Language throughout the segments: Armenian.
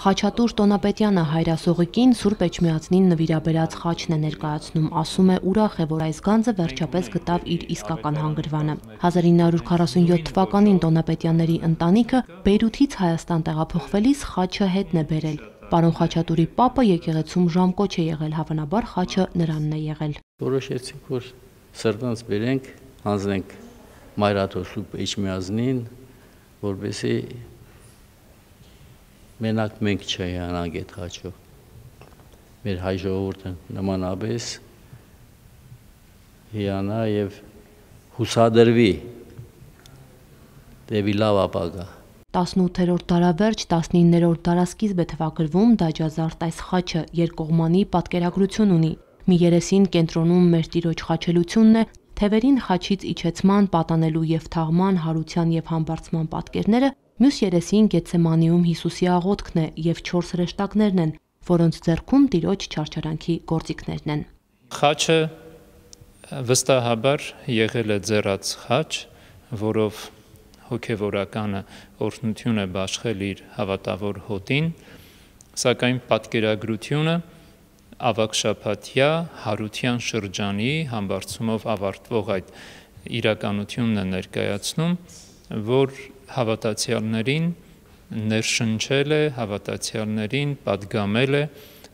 Խաչատուր Տոնապետյանը հայրասողիկին Սուրբ Էջմիածնին նվիրաբերած խաչն է ներկայացնում, ասում է ուրախ է, որ այս գանձը վերջապես գտավ իր իսկական հանգրվանը։ 1947 թվականին Տոնապետյանների ընտանիքը Բեյրութից Հայաստան տեղափոխվելիս խաչը հետն է բերել։ Պարոն Խաչատուրի պապը եկեղեցում ժամկոչ է եղել, հավանաբար խաչը նրանն է եղել։ Որոշեցինք, որ սրտանց բերենք, հանձնենք Մայրաթոր Սուրբ Էջմիածնին, որպեսզի մենակ մենք չհիանանք այդ խաչով, մեր հայ ժողովուրդը նմանապես հիանա եւ հուսադրվի դեպի լավ ապագա։ 18-րդ դարավերջ, 19-րդ դարասկիզբ է թվագրվում Դաջազարդ այս խաչը երկկողմանի պատկերագրություն ունի։ Մի երեսին կենտրոնում մեր Տիրոջ խաչելությունն է, թևերին խաչից իջեցման, պատանելու եւ թաղման, հարության եւ համբարձման պատկերները, մյուս երեսին Գեթսեմանիում Հիսուսի աղոթքն է եւ 4 հրեշտակներն են, որոնց ձեռքում Տիրոջ չարչարանքի գործիքներն են։ Խաչը վստահաբար եղել է ձեռած խաչ, որով հոգևորականը օրհնություն է բաշխել իր հավատավոր հոտին, սակայն պատկերագրությունը ավագշաբաթյա հարության շրջանի համբարձումով ավարտվող այդ իրականությունն է ներկայացնում, որ հավատացյալներին ներշնչել է, հավատացյալներին պատգամել է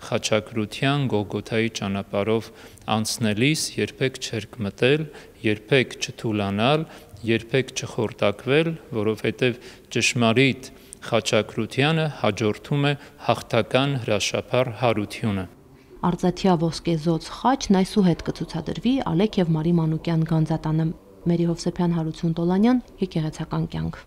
խաչակրության Գողգոթայի ճանապարհով անցնելիս երբեք չերկմտել, երբեք չթուլանալ, երբեք չխորտակվել, որովհետև ճշմարիտ խաչակրությանը հաջորդում է հաղթական հրաշափառ հարությունը։ Արծաթյա ոսկեզոծ խաչն այսուհետ կցուցադրվի Ալեք եւ Մարի Մանուկյան գանձատանը։ Մերի Հովսեփյան, Հարություն Տոլանյան, Եկեղեցական կյանք։